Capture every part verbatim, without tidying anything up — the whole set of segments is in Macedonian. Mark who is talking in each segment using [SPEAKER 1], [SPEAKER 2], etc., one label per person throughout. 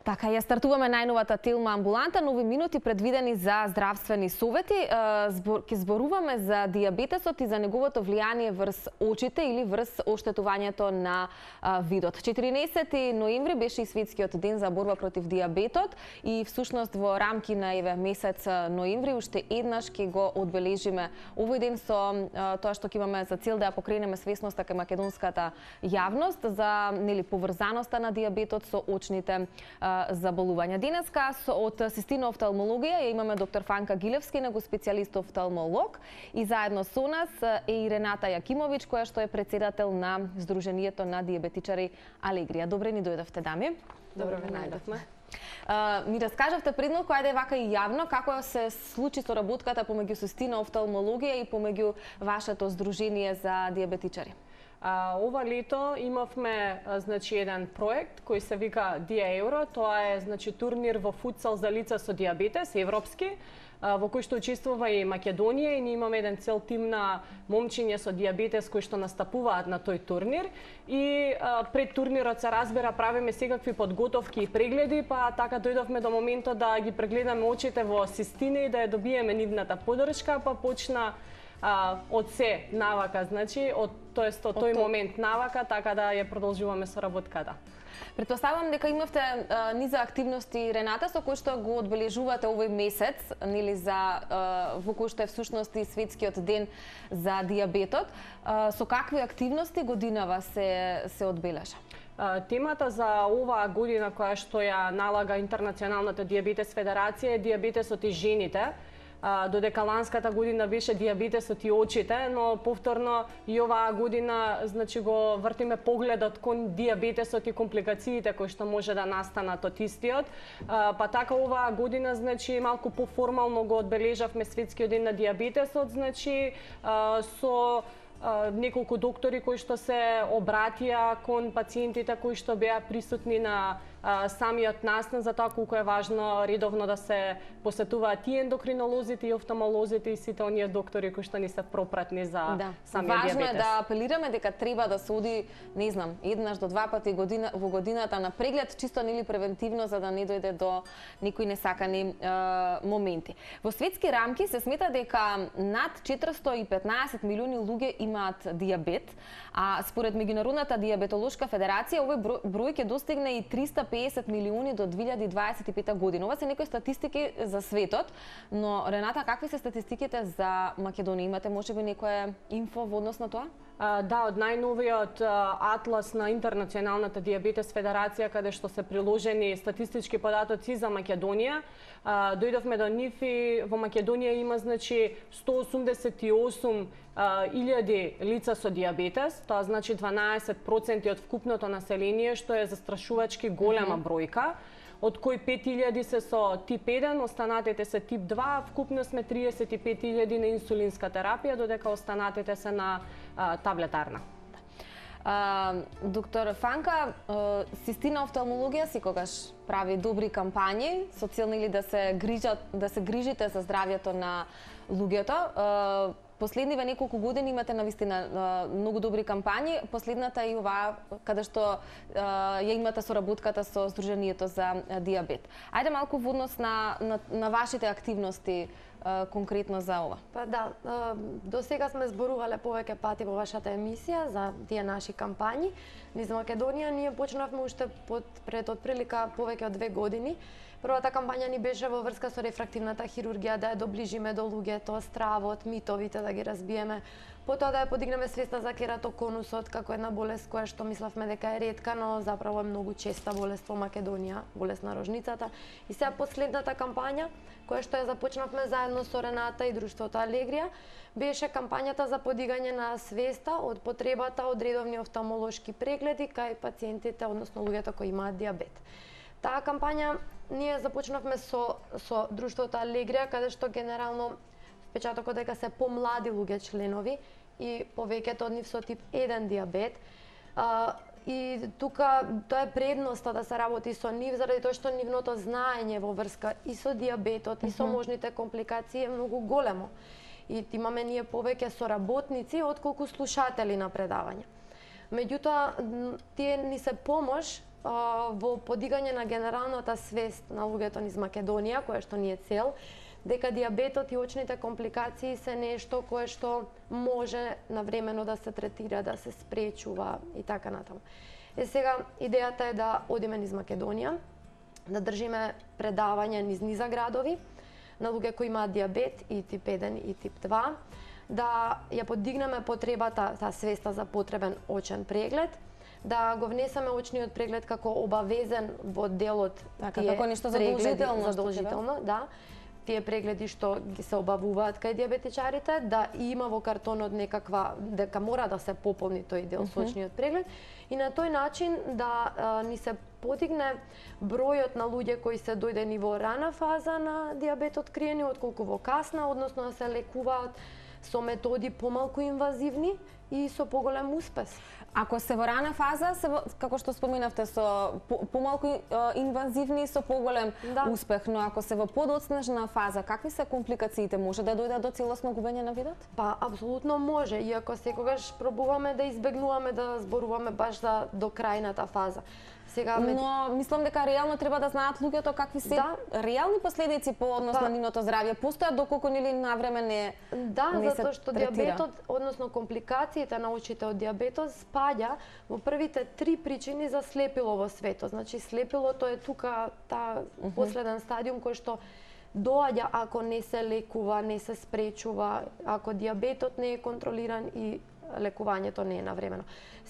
[SPEAKER 1] Така, ја стартуваме најновата Телма амбуланта, нови минути предвидени за здравствени совети. Ке зборуваме за дијабетесот и за неговото влијание врз очите или врз оштетувањето на видот. четиринаесети ноември беше и светскиот ден за борба против дијабетот и всушност во рамки на еве месец ноември уште еднаш ќе го одбележиме овој ден со тоа што ќе имаме за цел да ја покренеме свесноста кај македонската јавност за нели поврзаноста на дијабетот со очните заболувања. Денеска од Систина офталмологија ја имаме доктор Фанка Гилевски, него специјалист офталмолог, и заедно со нас е и Рената Јакимовиќ, која што е председател на Сдруженијето на дијабетичари Алегрија. Добре ни дојдовте, дами.
[SPEAKER 2] Добро ве најдовме.
[SPEAKER 1] Uh, ми раскажавте предмалку, ајде вака и јавно, како се случи соработката помеѓу Систина офталмологија и помеѓу вашето Сдружение за дијабетичари?
[SPEAKER 2] А, ова лето имавме значи еден проект кој се вика Дија Евро. Тоа е значи турнир во футсал за лица со дијабетес, европски, во кој што учествува и Македонија, и ние имаме еден цел тим на момчиња со дијабетес кои што настапуваат на тој турнир. И а, пред турнирот се разбира правиме секакви подготовки и прегледи, па така дојдовме до моментот да ги прегледаме очите во Систина и да ја добиеме нивната поддршка, па почна а, од се навака, значи од тоест од тој момент навака, така да ја продолжуваме соработката.
[SPEAKER 1] Претпоставувам дека имавте а, низа активности, Рената, со кои што го одбележувате овој месец, нели за а, во кој што е всушност и светскиот ден за дијабетот. А, со какви активности годинава се се одбележа?
[SPEAKER 2] Темата за оваа година која што ја налага Интернационалната дијабетес федерација е дијабетесот и жените. Додека ланската година беше дијабетесот и очите, но повторно и оваа година значи го вртиме погледот кон дијабетесот и компликациите кои што може да настанат од истиот. Па така оваа година значи малку поформално го одбележавме светскиот ден на дијабетесот, значи со неколку доктори кои што се обратија кон пациентите кои што беа присутни на самиот настан за тоа колку е важно редовно да се посетуваат и ендокринолозите, и офталмолозите, и сите оние доктори кои што ни се пропратни за
[SPEAKER 1] да.
[SPEAKER 2] самиот
[SPEAKER 1] важно
[SPEAKER 2] дијабетес.
[SPEAKER 1] Важно е да апелираме дека треба да се оди, не знам, еднаш до два пати година, во годината на преглед, чисто нели превентивно, за да не дојде до никои несакани е, моменти. Во светски рамки се смета дека над четиристо и петнаесет милиони луѓе имаат дијабет, а според Меѓународната дијабетолошка федерација овој број, број ќе достигне и триста и песет милиони до две илјади дваесет и пета година. Ова се некои статистики за светот, но Рената, какви се статистиките за Македонија? Имате можеби некоја инфо во однос на тоа?
[SPEAKER 2] А, да, од најновиот атлас на Интернационалната дијабетес федерација, каде што се приложени статистички податоци за Македонија, а, дојдовме до нив и во Македонија има значи сто осумдесет и осум илјади лица со дијабетес, тоа значи дванаесет проценти од вкупното население, што е застрашувачки голема бројка, од кои пет илјади се со тип еден, останатите се тип два, вкупно сме триесет и пет илјади на инсулинска терапија, додека останатите се на а, таблетарна.
[SPEAKER 1] Uh, доктор Фанка, uh, Систина офталмологија секогаш прави добри кампањи со цел или да се грижат, да се грижите за здравјето на луѓето. Uh, Последниве неколку години имате навистина многу добри кампањи. Последната е и оваа каде што ја имате соработката со Сдруженијето за дијабет. Ајде малку во однос на, на, на вашите активности конкретно за ова.
[SPEAKER 3] Па да, до сега сме зборувале повеќе пати во вашата емисија за тие наши кампањи. Низ Македонија ние почнавме уште под пред отприлика повеќе од две години. Првата кампања ни беше во врска со рефрактивната хирургија, да ја доближиме до луѓето, стравот, митовите да ги разбиеме. Потоа да ја подигнеме свеста за кератоконусот како една болест која што мислевме дека е ретка, но заправо е многу честа болест во Македонија, болест на рожницата. И сега последната кампања, која што ја започнавме заедно со Рената и Друштвото Алегрија, беше кампањата за подигање на свеста од потребата од редовни офталмолошки прегледи кај пациентите, односно луѓето кои имаат дијабет. Таа кампања ние започнавме со со Друштвото Алегрија, каде што генерално впечатокот дека се помлади луѓе членови и повеќето од нив со тип еден дијабет. А, и тука тоа е предноста да се работи со нив, заради тоа што нивното знаење во врска и со дијабетот и со можните компликации е многу големо. И имаме ние повеќе соработници отколку слушатели на предавања. Меѓутоа, тие ни се помош во подигање на генералната свест на луѓето низ Македонија, која што ни е цел, дека дијабетот и очните компликации се нешто кое што може навремено да се третира, да се спречува и така натаму. Е сега, идејата е да одиме низ Македонија, да држиме предавања низ низа градови, на луѓе кои имаат дијабет и тип еден и тип два, да ја подигнеме потребата, таа свеста за потребен очен преглед, да го внесеме очниот преглед како обавезен во делот
[SPEAKER 1] така, тие како нешто задолжително,
[SPEAKER 3] задолжително, да. Тие прегледи што ги се обавуваат кај дијабетичарите, да има во картонот некаква, дека мора да се пополни тој дел со очниот преглед и на тој начин да а, ни се подигне бројот на луѓе кои се дојдени во рана фаза на дијабет откриени, отколку во касна, односно да се лекуваат со методи помалку инвазивни и со поголем успес.
[SPEAKER 1] Ако се во рана фаза, се во, како што споменавте, со помалку инвазивни, со поголем да. успех, но ако се во подоцнежна фаза, какви се компликациите? Може да дојдат до целосно губење на видот?
[SPEAKER 3] Па, апсолутно може, иако секогаш пробуваме да избегнуваме да зборуваме баш за до крајната фаза. Сега,
[SPEAKER 1] но мислам дека реално треба да знаат луѓето какви се да. реални последици по однос па, на нивното здравје. Постојат доколку нели навреме не
[SPEAKER 3] Да,
[SPEAKER 1] не
[SPEAKER 3] затоа што дијабетот, односно компликациите на очите од дијабетот спаѓа во првите три причини за слепило во светот. Значи слепилото е тука таа uh -huh. последен стадиум кој што доаѓа ако не се лекува, не се спречува, ако дијабетот не е контролиран и лекувањето не е навремено.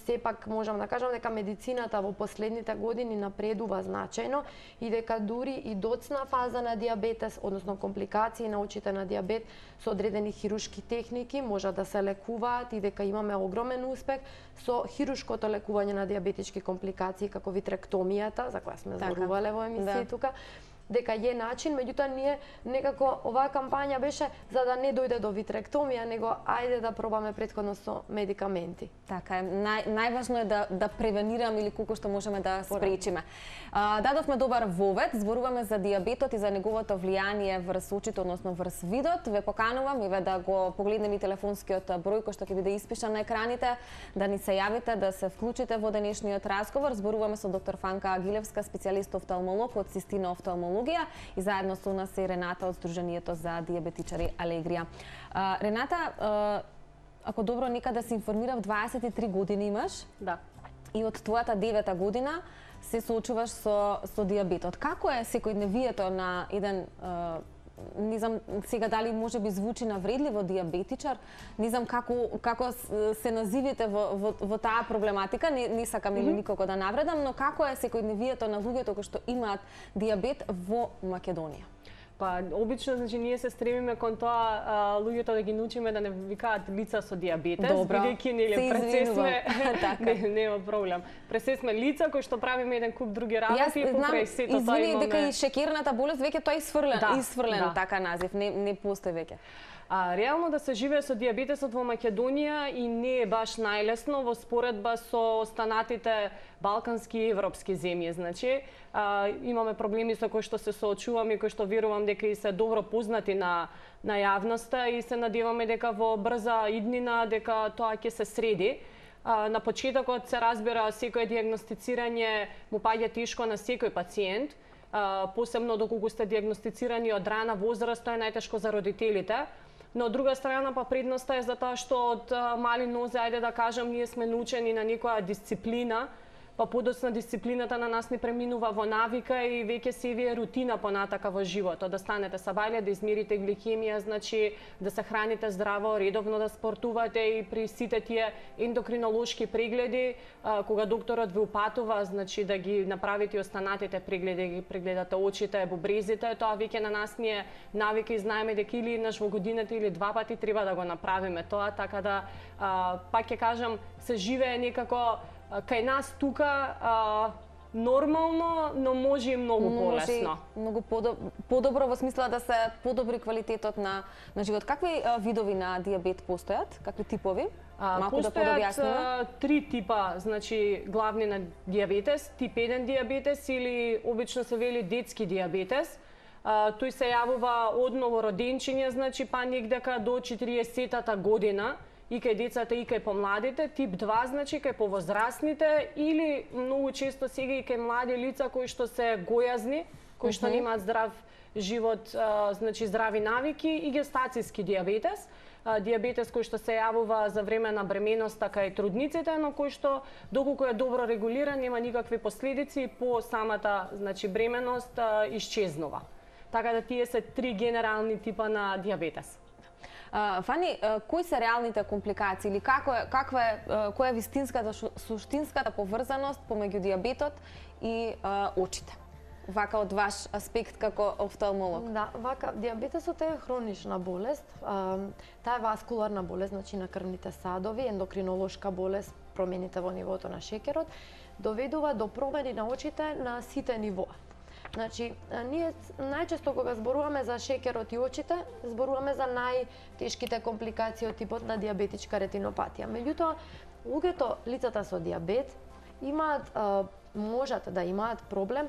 [SPEAKER 3] Сепак можам да кажам дека медицината во последните години напредува значајно и дека дури и доцна фаза на дијабетес, односно компликации на очите на дијабет со одредени хирушки техники можат да се лекуваат и дека имаме огромен успех со хирушкото лекување на дијабетички компликации како витректомијата, за која сме зборувале во емисија да. тука, дека е начин, меѓутоа ние некако оваа кампања беше за да не дојде до витректомија, него ајде да пробаме претходно со медикаменти.
[SPEAKER 1] Така е, нај, најважно е да да превенираме или колку што можеме да спречиме. А, дадовме добар вовед, зборуваме за дијабетот и за неговото влијание врз очите, односно врз видот. Ве поканувам и ве да го погледнеме телефонскиот број кој што ќе биде испишан на екраните, да ни се јавите, да се вклучите во денешниот разговор. Зборуваме со доктор Фанка Агилевска, специјалист офталмолог од Систина офталмолог и заедно со нас е Рената од Сдруженијето за дијабетичари Алегрија. А, Рената, а, ако добро некаде се информирав, дваесет и три години имаш.
[SPEAKER 2] Да.
[SPEAKER 1] И од твојата девета година се соочуваш со со дијабетот. Како е секојдневието на еден а, не знам сега дали може би звучи навредливо дијабетичар, не знам како како се називите во во, во таа проблематика, не, не сакам или mm -hmm. никако да навредам, но како е секојдневието на луѓето кои што имаат дијабет во Македонија?
[SPEAKER 2] Па, обично, значи, ние се стремиме кон тоа а, луѓето да ги научиме да не викаат лица со дијабетес, бидејќи нели пред сме не, нема проблем. Пред се сме лица кои што правиме еден куп други работи и покрај сето тоа имаме.
[SPEAKER 1] Извини дека и шекерната болест веќе тоа е исфрлен,
[SPEAKER 2] да,
[SPEAKER 1] исфрлен
[SPEAKER 2] да.
[SPEAKER 1] така назив, не не постои веќе.
[SPEAKER 2] А, реално да се живее со дијабетесот во Македонија и не е баш најлесно во споредба со останатите балкански и европски земји. Значи, а, имаме проблеми со кои што се соочуваме, кои што верувам дека и се добро познати на на јавноста и се надеваме дека во брза иднина дека тоа ќе се среди. А, на почетокот се разбира секој дијагностицирање му паѓа тешко на секој пациент. А, посебно доколку сте дијагностицирани од рана возраст, тоа е најтешко за родителите. Но од друга страна па предноста е за тоа што од мали нозе, ајде да кажам, ние сме научени на некоја дисциплина, па подоцна дисциплината на нас не преминува во навика и веќе се ви е рутина понатака во животот. Да станете сабајле, да измерите гликемија, значи да се храните здраво, редовно да спортувате и при сите тие ендокринолошки прегледи, а, кога докторот ви упатува, значи да ги направите останатите прегледи, ги прегледате очите, бубрезите, тоа веќе на нас ни е навика и знаеме дека или еднаш во годината или два пати треба да го направиме тоа, така да а, пак ќе кажам, се живее некако кај нас тука а, нормално, но може и многу полесно.
[SPEAKER 1] Многу подобро во смисла да се подобри квалитетот на на живот. Какви а, видови на дијабет постојат? Какви типови?
[SPEAKER 2] А, Малку да подобјасниме. Три типа, значи главни на дијабетес, тип еден дијабетес или обично се вели детски дијабетес. А, тој се јавува од новороденчиња, значи па негдека до четириесеттата година и кај децата и кај помладите, тип два значи кај повозрастните или многу често сега и кај млади лица кои што се гојазни, кои што немаат здрав живот, а, значи здрави навики и гестацијски диабетес. А, диабетес кој што се јавува за време на бременоста кај трудниците, но кој што доколку е добро регулиран нема никакви последици по самата значи бременост а, исчезнува. Така да тие се три генерални типа на диабетес.
[SPEAKER 1] Uh, Фани, uh, кои се реалните компликации или како е, каква е, uh, која е вистинската, суштинската поврзаност помеѓу диабетот и uh, очите? Вака од ваш аспект како офталмолог.
[SPEAKER 3] Да, вака, диабетесот е хронична болест. А, таа е васкуларна болест, значи на крвните садови, ендокринолошка болест, промените во нивото на шеќерот, доведува до промени на очите на сите нивоа. Значи, ние најчесто кога зборуваме за шеќерот и очите, зборуваме за најтешките компликации од типот на диабетичка ретинопатија. Меѓутоа, луѓето, лицата со диабет, имаат, а, можат да имаат проблем,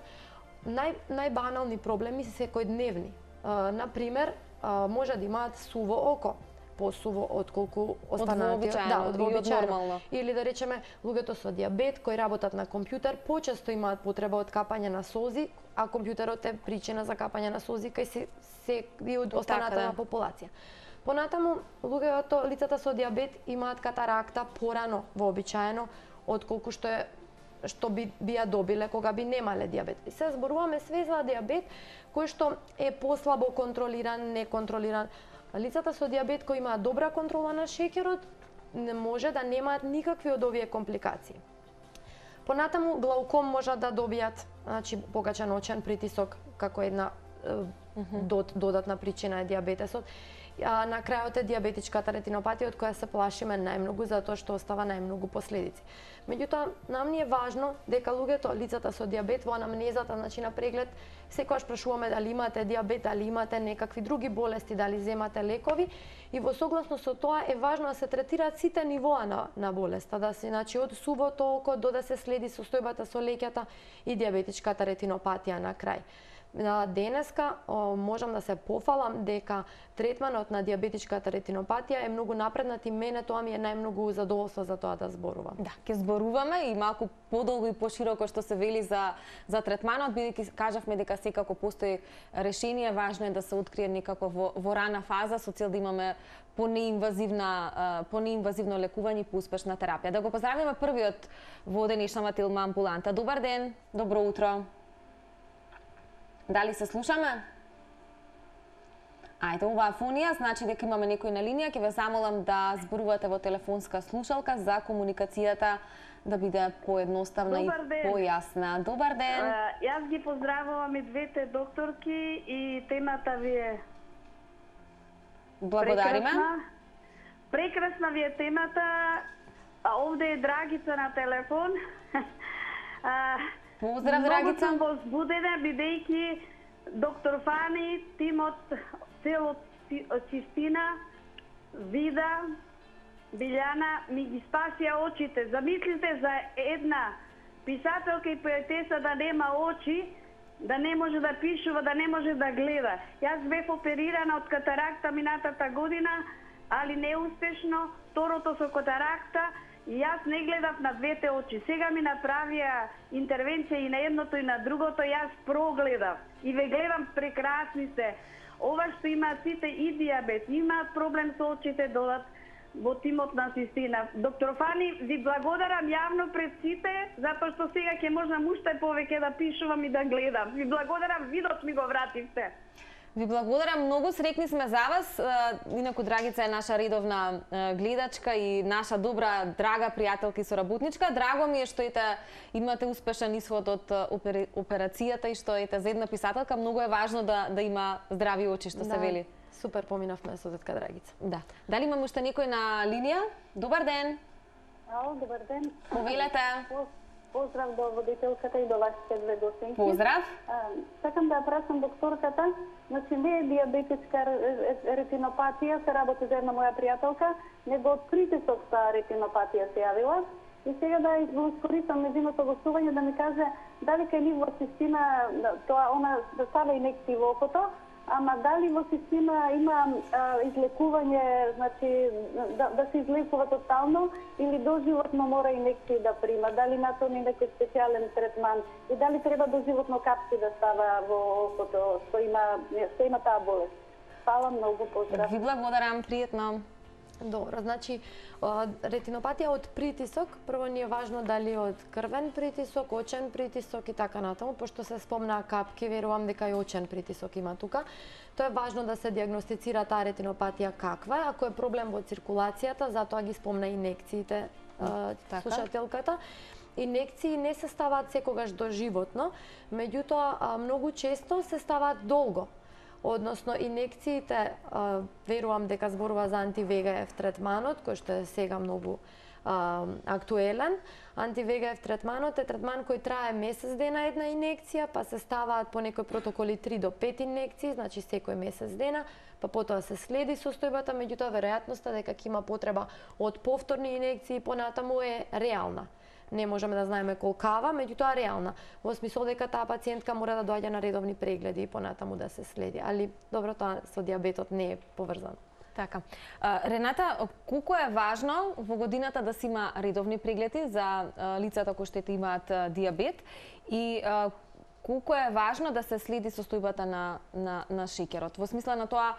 [SPEAKER 3] нај, најбанални проблеми се секојдневни. А, например, а, може да имаат суво око, посуво отколку останатиот, да, од вообичаено. Или да речеме, луѓето со диабет кои работат на компјутер почесто имаат потреба од капање на солзи, а компјутерот е причина за капање на солзи кај се, се и од останата на популација. Понатаму, луѓето, лицата со диабет имаат катаракта порано вообичаено отколку што е што би, би ја добиле кога би немале диабет. И се зборуваме све за диабет кој што е послабо контролиран, неконтролиран. Лицата со диабет кои имаат добра контрола на шеќерот не може да немаат никакви од овие компликации. Понатаму глауком можат да добијат, значи покачен очен притисок како една е, дод, додатна причина е диабетесот. А на крајот е диабетичката ретинопатија од која се плашиме најмногу затоа што остава најмногу последици. Меѓутоа, нам ни е важно дека луѓето, лицата со диабет во анамнезата, значи на преглед, секогаш прашуваме дали имате диабет, дали имате некакви други болести, дали земате лекови и во согласно со тоа е важно да се третираат сите нивоа на, на болеста, да се, значи од сувото око до да се следи состојбата со леќата и диабетичката ретинопатија на крај. Денеска можам да се пофалам дека третманот на диабетичката ретинопатија е многу напреднат и мене тоа ми е најмногу задоволство за тоа да зборувам.
[SPEAKER 1] Да, ќе зборуваме и малку подолго и пошироко што се вели за за третманот, бидејќи кажавме дека секако постои решение, важно е да се открие некако во, во рана фаза со цел да имаме понеинвазивна понеинвазивно лекување и поуспешна терапија. Да го поздравиме првиот во денешната Тилма амбуланта. Добар ден, добро утро. Дали се слушаме? Ајде, оваа фонија значи дека имаме некој на линија, ќе ве замолам да зборувате во телефонска слушалка за комуникацијата да биде поедноставна и појасна. Добар ден.
[SPEAKER 4] А, јас ги поздравувам и двете докторки и темата ви е
[SPEAKER 1] Благодариме.
[SPEAKER 4] Прекрасна, прекрасна ви е темата. А овде е Драгица на телефон. а,
[SPEAKER 1] Поздрав, Драгица.
[SPEAKER 4] Многу сум возбудена, бидејќи доктор Фани, тимот, целот чистина, Вида, Билјана ми ги спасија очите. Замислите за една писателка и поетеса да нема очи, да не може да пишува, да не може да гледа. Јас бев оперирана од катаракта минатата година, али неуспешно, второто со катаракта, и јас не гледав на двете очи. Сега ми направија интервенција и на едното и на другото, јас прогледав. И ве гледам, прекрасни сте. Ова што имаат сите и диабет, имаат проблем со очите, додат во тимот на Систина. Доктор Фани, ви благодарам јавно пред сите, затоа што сега ќе можам уште повеќе да пишувам и да гледам. Ви благодарам, видот ми го вративте.
[SPEAKER 1] Ви благодарам, многу среќни сме за вас. Инаку Драгица е наша редовна гледачка и наша добра, драга пријателка и соработничка. Драго ми е што ете имате успешен исход од операцијата и што ете за една писателка многу е важно да да има здрави очи, што
[SPEAKER 3] да,
[SPEAKER 1] се вели.
[SPEAKER 3] Супер поминавме со тетка Драгица.
[SPEAKER 1] Да. Дали имаме уште некој на линија? Добар ден.
[SPEAKER 4] Ало, добар ден.
[SPEAKER 1] Повелете.
[SPEAKER 4] Поздрав до водителката и до вашите две гостинки.
[SPEAKER 1] Поздрав.
[SPEAKER 4] А, сакам да прашам докторката, значи не е диабетичка ретинопатија, се работи за една моја пријателка, него од притисок са ретинопатија се јавила. И сега да искористам незиното гостување да ми каже дали кај нив во Систина тоа она да става инекција во окото, ама дали во система има а, излекување, значи да, да се излекува тотално или доживотно мора инекции да прима? Дали на тоа некој специјален третман и дали треба доживотно капки да става во окото што има што има таа болест? Фала многу, поздрав.
[SPEAKER 1] Ви благодарам, пријатно.
[SPEAKER 3] Добро, значи ретинопатија од притисок, прво ни е важно дали од крвен притисок, очен притисок и така натаму, пошто се спомнаа капки, верувам дека и очен притисок има тука. Тоа е важно да се диагностицира таа ретинопатија каква е, ако е проблем во циркулацијата, затоа ги спомна инекциите
[SPEAKER 1] така.
[SPEAKER 3] Слушателката. Инекции не се ставаат секогаш доживотно, меѓутоа многу често се ставаат долго. Односно, инекциите, а, верувам дека зборува за анти-ве ге еф третманот, кој што е сега многу а, актуелен. анти-ве ге еф третманот е третман кој трае месец дена една инекција, па се ставаат по некои протоколи три до пет инекции, значи секој месец дена, па потоа се следи состојбата, меѓутоа веројатноста дека ќе има потреба од повторни инекции понатаму е реална. Не можеме да знаеме колкава, меѓутоа реална. Во смисол дека таа пациентка мора да доаѓа на редовни прегледи и понатаму да се следи. Али добро, тоа со дијабетот не е поврзано.
[SPEAKER 1] Така. Рената, колку е важно во годината да се има редовни прегледи за лицата кои што имаат дијабет и колку е важно да се следи состојбата на на на шеќерот? Во смисла на тоа,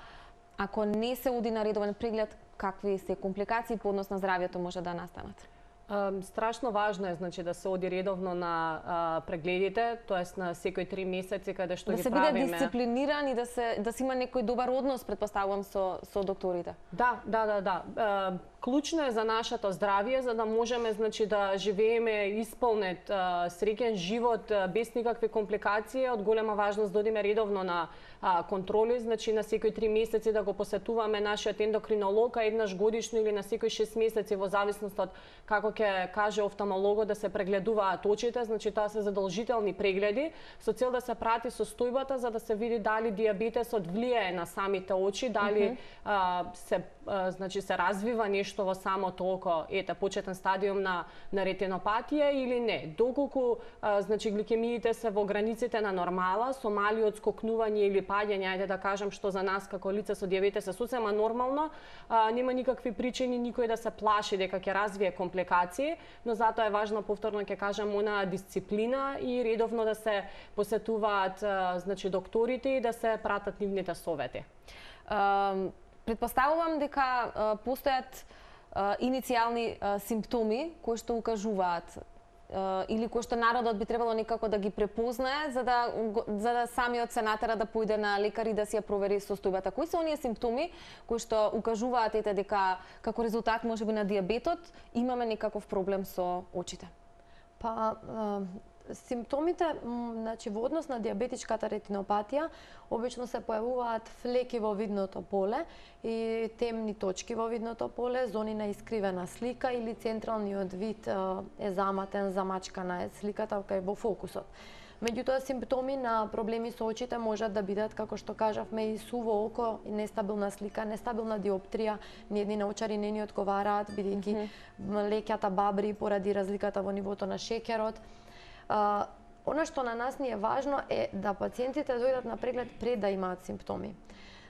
[SPEAKER 1] ако не се оди на редовен преглед, какви се компликации по однос на здравјето може да настанат?
[SPEAKER 2] Um, страшно важно е, значи, да се оди редовно на uh, прегледите, тоест на секој три месеци каде што
[SPEAKER 1] да
[SPEAKER 2] ги
[SPEAKER 1] се
[SPEAKER 2] правиме.
[SPEAKER 1] биде дисциплиниран и да се да се има некој добар однос, предпоставувам, со со докторите.
[SPEAKER 2] Да, да, да, да. Uh, клучно е за нашето здравје, за да можеме, значи, да живееме исполнет, uh, среќен живот uh, без никакви компликации. Од голема важност да одиме редовно на uh, контроли, значи на секој три месеци да го посетуваме нашиот ендокринолог, а еднаш годишно или на секој шест месеци во зависност од како ќе каже офталмологот да се прегледуваат очите, значи тоа се задолжителни прегледи со цел да се прати состојбата за да се види дали дијабетесот влијае на самите очи, дали mm -hmm. а, се а, значи се развива нешто во самото око, ете почетен стадиум на на ретинопатија или не. Доколку а, значи гликемиите се во границите на нормала, со мали отскокнување или паѓање, ајде да кажам што за нас како лице со дијабетес е сосема нормално, а, нема никакви причини никој да се плаши дека ќе развие компликации, но затоа е важно, повторно ќе кажам, она дисциплина и редовно да се посетуваат значи докторите и да се пратат нивните совети.
[SPEAKER 1] Uh, предпоставувам дека uh, постојат uh, иницијални uh, симптоми кои што укажуваат uh, или кои што народот би требало некако да ги препознае за да за да самиот се натера да појде на лекар и да си ја провери состојбата. Кои се оние симптоми кои што укажуваат ете дека како резултат можеби на дијабетот имаме некаков проблем со очите?
[SPEAKER 3] Па симптомите, значи во однос на дијабетичката ретинопатија, обично се појавуваат флеки во видното поле и темни точки во видното поле, зони на искривена слика или централниот вид е заматен, замачкана е сликата кај во фокусот. Меѓутоа, симптоми на проблеми со очите можат да бидат, како што кажавме, и суво око, и нестабилна слика, нестабилна диоптрија, ниедни научари не ни одговараат, бидејќи mm -hmm. леќата бабри поради разликата во нивото на шеќерот. Uh, Она што на нас ни е важно е да пациентите дојдат на преглед пред да имаат симптоми.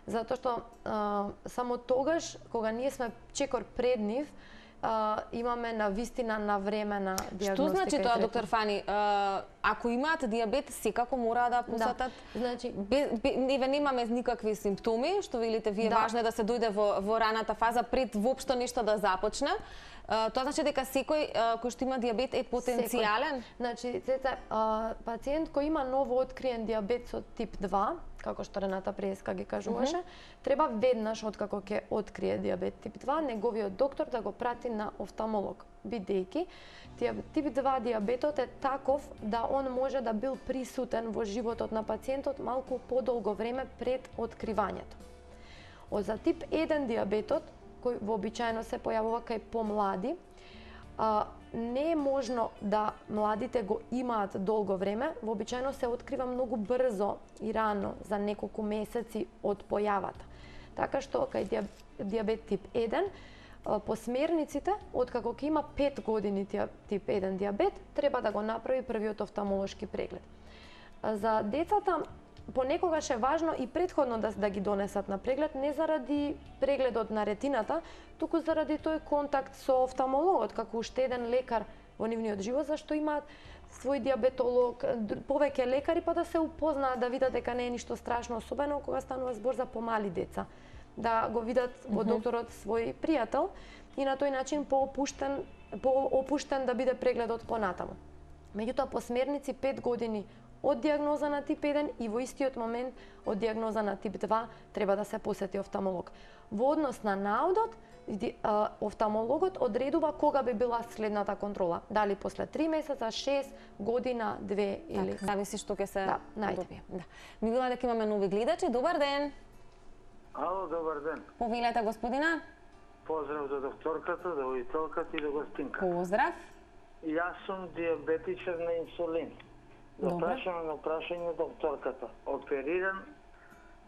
[SPEAKER 3] Затоа што uh, само тогаш, кога ние сме чекор пред нив, uh, имаме на вистина на време на дијагностика.
[SPEAKER 1] Што значи тоа, доктор Фани? Uh, ако имаат дијабет, секако мора да посетат?
[SPEAKER 3] Да. Значи,
[SPEAKER 1] еве немаме никакви симптоми, што велите вие, да. Важно е да се дојде во, во раната фаза пред воопшто нешто да започне. Uh, тоа значи дека секој uh, кој што има дијабет е потенцијален?
[SPEAKER 3] Секој. Значи, цеца, uh, пациент кој има ново откриен дијабет со тип два, како што Рената Преска ги кажуваше, mm -hmm. треба веднаш откако ќе открие дијабет тип два, неговиот доктор да го прати на офталмолог, бидејќи тип два дијабетот е таков да он може да бил присутен во животот на пациентот малку подолго време пред откривањето. Од за тип еден дијабетот, кој вообичаено се појавува кај помлади, а, не е можно да младите го имаат долго време, вообичаено се открива многу брзо и рано, за неколку месеци од појавата. Така што кај дијабет тип еден, по смерниците, откако ќе има пет години тип еден дијабет, треба да го направи првиот офталмолошки преглед. За децата понекогаш е важно и претходно да, да ги донесат на преглед, не заради прегледот на ретината, туку заради тој контакт со офталмологот, како уште еден лекар во нивниот живот, зашто имаат свој диабетолог, повеќе лекари, па да се упознаат, да видат дека не е ништо страшно, особено кога станува збор за помали деца. Да го видат во докторот свој пријател и на тој начин поопуштен, поопуштен да биде прегледот понатаму. Меѓутоа, по смерници пет години од диагноза на тип еден и во истиот момент од диагноза на тип два треба да се посети офталмолог. Во однос на наудот, офталмологот одредува кога би била следната контрола. Дали после три месеца, шест, година, две или...
[SPEAKER 1] Так, зависи што ќе се
[SPEAKER 3] да,
[SPEAKER 1] добие. Да. Ми вела дека имаме нови гледачи. Добар ден!
[SPEAKER 5] Ало, добар ден.
[SPEAKER 1] Повелете, господина.
[SPEAKER 5] Поздрав до докторката, до водителката и до гостинка.
[SPEAKER 1] Поздрав.
[SPEAKER 5] Јас сум диабетичар на инсулин. Да прашам на прашање докторката. Опериран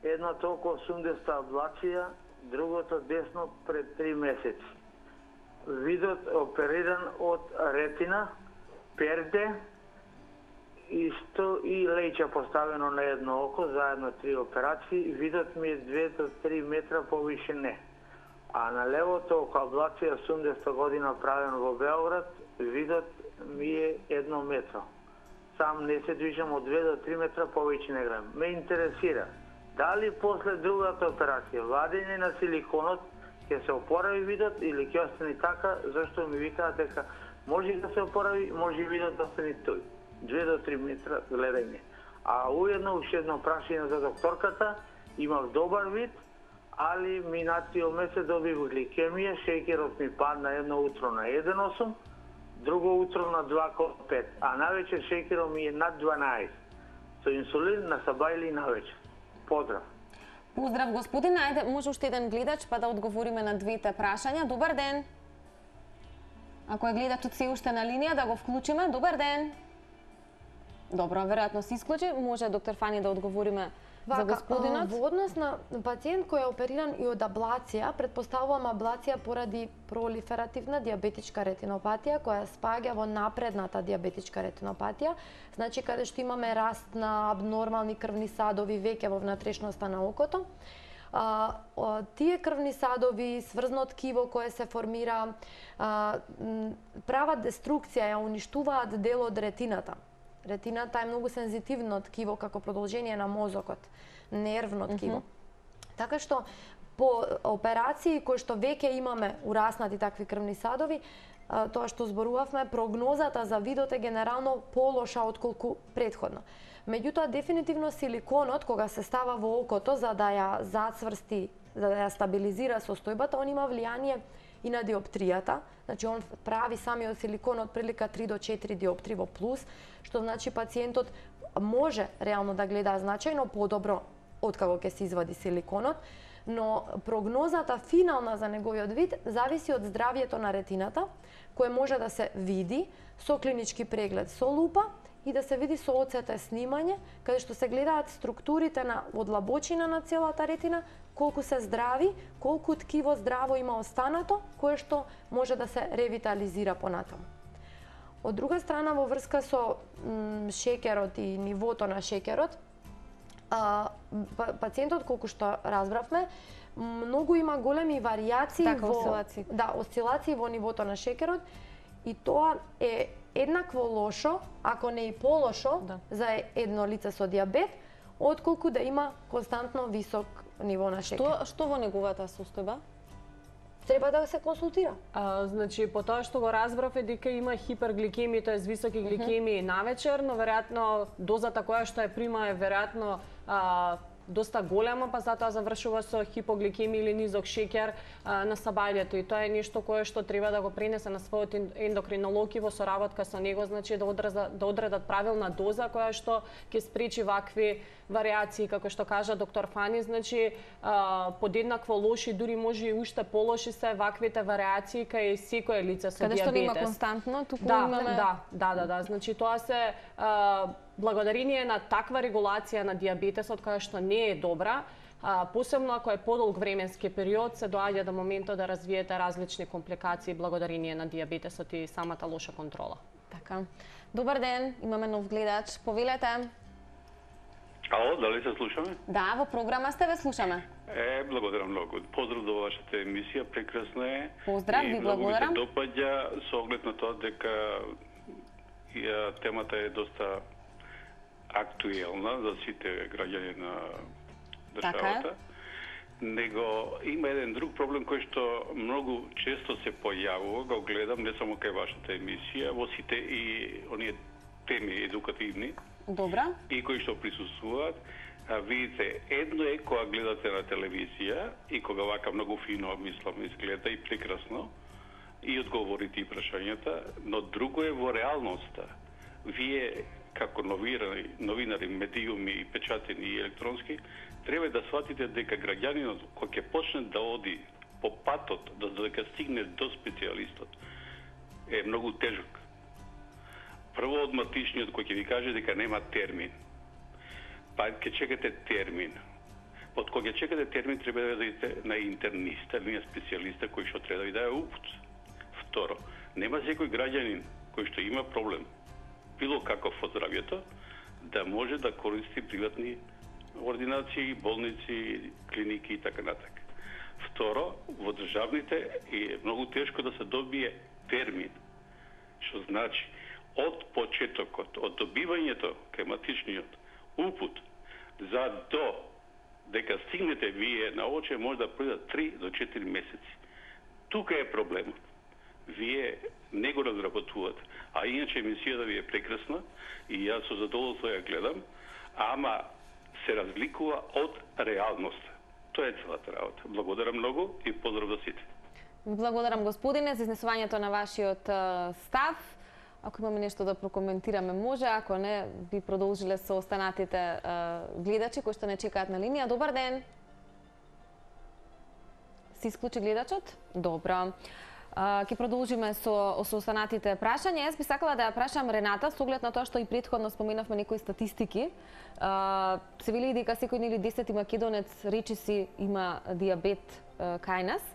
[SPEAKER 5] едното околу осумдесет аблација, другото десно пред три месеци. Видот опериран од ретина, перде, исто и леќа поставено на едно око, заедно три операции. Видот ми е две до три метра повише не. А на левото око аблација осумдесета година правен во Белград, видот ми е едно метро. Сам не се движам од две до три метра повеќе не гледам. Ме интересира дали после другата операција, вадење на силиконот, ќе се опорави видот или ќе остане така, зашто ми викаат дека може да се опорави, може видот да остане тој. две до три метра гледање. А уедно уште едно прашање за докторката, имав добар вид, али минатиот месец добив гликемија, шеќерот ми падна едно утро на еден целу осум, друго утро на два целу пет, а навечер шеќерот ми е над дванаесет. Со инсулин на саба или навечер. Поздрав.
[SPEAKER 1] Поздрав, господин. Ајде, може уште еден гледач, па да одговориме на двете прашања. Добар ден. Ако е гледачот се уште на линија, да го вклучиме. Добар ден. Добро, веројатно се исклучи. Може доктор Фани да одговориме за господинот.
[SPEAKER 3] Во однос на пациент кој е опериран и од аблација, предпоставувам аблација поради пролиферативна диабетичка ретинопатија, која спаѓа во напредната диабетичка ретинопатија, значи каде што имаме раст на абнормални крвни садови веќе во внатрешноста на окото. А, тие крвни садови, сврзно ткиво кое се формира, а, прават деструкција, ја уништуваат дел од ретината. Ретината е многу сензитивно ткиво како продолжение на мозокот, нервно ткиво. Mm -hmm. Така што по операции кои што веќе имаме ураснати такви крвни садови, тоа што зборувавме, прогнозата за видот е генерално полоша отколку претходно. Меѓутоа, дефинитивно силиконот, кога се става во окото за да ја зацврсти, за да ја стабилизира состојбата, он има влијание и на диоптријата, значи он прави самиот силикон од прилика три до четири диоптри во плюс, што значи пациентот може реално да гледа значајно подобро откако ќе се извади силиконот, но прогнозата финална за неговиот вид зависи од здравјето на ретината, кое може да се види со клинички преглед со лупа и да се види со о це те снимање, каде што се гледаат структурите на одлабочина на целата ретина, колку се здрави, колку ткиво здраво има останато, кое што може да се ревитализира понатаму. Од друга страна, во врска со шеќерот и нивото на шеќерот, а, пациентот, колку што разбравме, многу има големи варијации
[SPEAKER 1] така,
[SPEAKER 3] во
[SPEAKER 1] осцилации.
[SPEAKER 3] Да, осцилации во нивото на шеќерот и тоа е еднакво лошо, ако не и полошо, да, за едно лице со диабет, отколку да има константно висок ниво на шеќер.
[SPEAKER 1] Што, што во неговата состојба?
[SPEAKER 3] Треба да се консултира.
[SPEAKER 2] А, значи, по тоа што го разбрав е дека има хипергликемија, тоа е високи гликемии mm -hmm. навечер, но веројатно дозата која што ја прима е веројатно а, доста голема, па затоа завршува со хипогликемија или низок шеќер а, на сабајлето. И тоа е нешто кое што треба да го пренесе на својот ендокринолог и во соработка со него, значи да одредат, да одредат правилна доза која што ќе спречи вакви варијации, како што кажа доктор Фани, значи а, подеднакво лоши, дури може и уште полоши се ваквите варијации кај секое лице со
[SPEAKER 1] Каде
[SPEAKER 2] диабетес.
[SPEAKER 1] Каде што нема константно, туку
[SPEAKER 2] да,
[SPEAKER 1] имаме...
[SPEAKER 2] Да, да, да, да, значи тоа се а, благодарение на таква регулација на диабетесот која што не е добра, а, посебно ако е подолг временски период, се доаѓа до моментот да развиете различни компликации благодарение на диабетесот и самата лоша контрола.
[SPEAKER 1] Така. Добар ден, имаме нов гледач. Повелете.
[SPEAKER 6] Ало, дали се слушаме?
[SPEAKER 1] Да, во програма сте, ве слушаме.
[SPEAKER 6] Е, благодарам многу. Поздрав до вашата емисија, прекрасна е.
[SPEAKER 1] Поздрав, ви благодарам.
[SPEAKER 6] И многу ми се допаѓа со оглед на тоа дека ја, темата е доста актуелна за сите граѓани на државата.
[SPEAKER 1] Така е.
[SPEAKER 6] Него има еден друг проблем кој што многу често се појавува, го гледам не само кај вашата емисија, во сите и оние теми едукативни.
[SPEAKER 1] Добра.
[SPEAKER 6] И кои што присуствуваат. А, видите, едно е кога гледате на телевизија и кога вака многу фино, мислам, изгледа и прекрасно и одговорите и прашањата, но друго е во реалноста. Вие како новинари, новинари, медиуми и печатени и електронски, треба да сватите дека граѓанинот кој ќе почне да оди по патот да дека стигне до специјалистот е многу тежок. Прво од матичниот кој ќе ви каже дека нема термин. Па ќе чекате термин. Од кога ќе чекате термин треба да идете на интерниста или на специјалиста кој што треба да ви даде упут. Второ, нема секој граѓанин кој што има проблем било каков во здравјето да може да користи приватни ординации, болници, клиники и така натаму. Второ, во државните е многу тешко да се добие термин. Што значи од почетокот, од добивањето кај матичниот упут за до дека стигнете вие на оче може да пројдат три до четири месеци. Тука е проблемот. Вие не го разработувате. А иначе емисијата ви е прекрасна и јас со задоволство ја гледам, ама се разликува од реалноста. Тоа е целата работа. Благодарам многу и поздрав за сите.
[SPEAKER 1] Благодарам, господине, за изнесувањето на вашиот став. Ако имаме нешто да прокоментираме, може, ако не, би продолжиле со останатите гледачи кои што не чекаат на линија. Добар ден. Се исклучи гледачот? Добро. Ќе продолжиме со, со останатите прашања. Јас би сакала да ја прашам Рената, со оглед на тоа што и претходно споменавме некои статистики. Се вели дека секој нели десети македонец речиси има дијабет кај нас.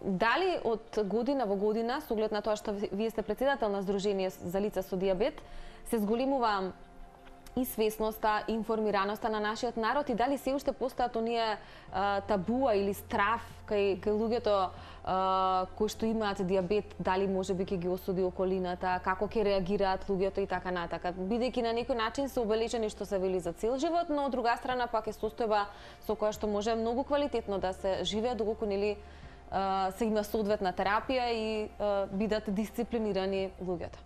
[SPEAKER 1] Дали од година во година, со оглед на тоа што вие сте председател на Сдружение за лица со дијабет, се зголемува и свесноста, информираноста на нашиот народ и дали се уште постојат оние а, табуа или страф кај, кај луѓето а, кои што имаат дијабет, дали може би ќе ги осуди околината, како ќе реагираат луѓето и така натака. Бидејќи на некој начин се обележени што се вели за цел живот, но од друга страна пак е состојба со која што може многу квалитетно да се живее доколку нели се има соодветна терапија и а, бидат дисциплинирани луѓето.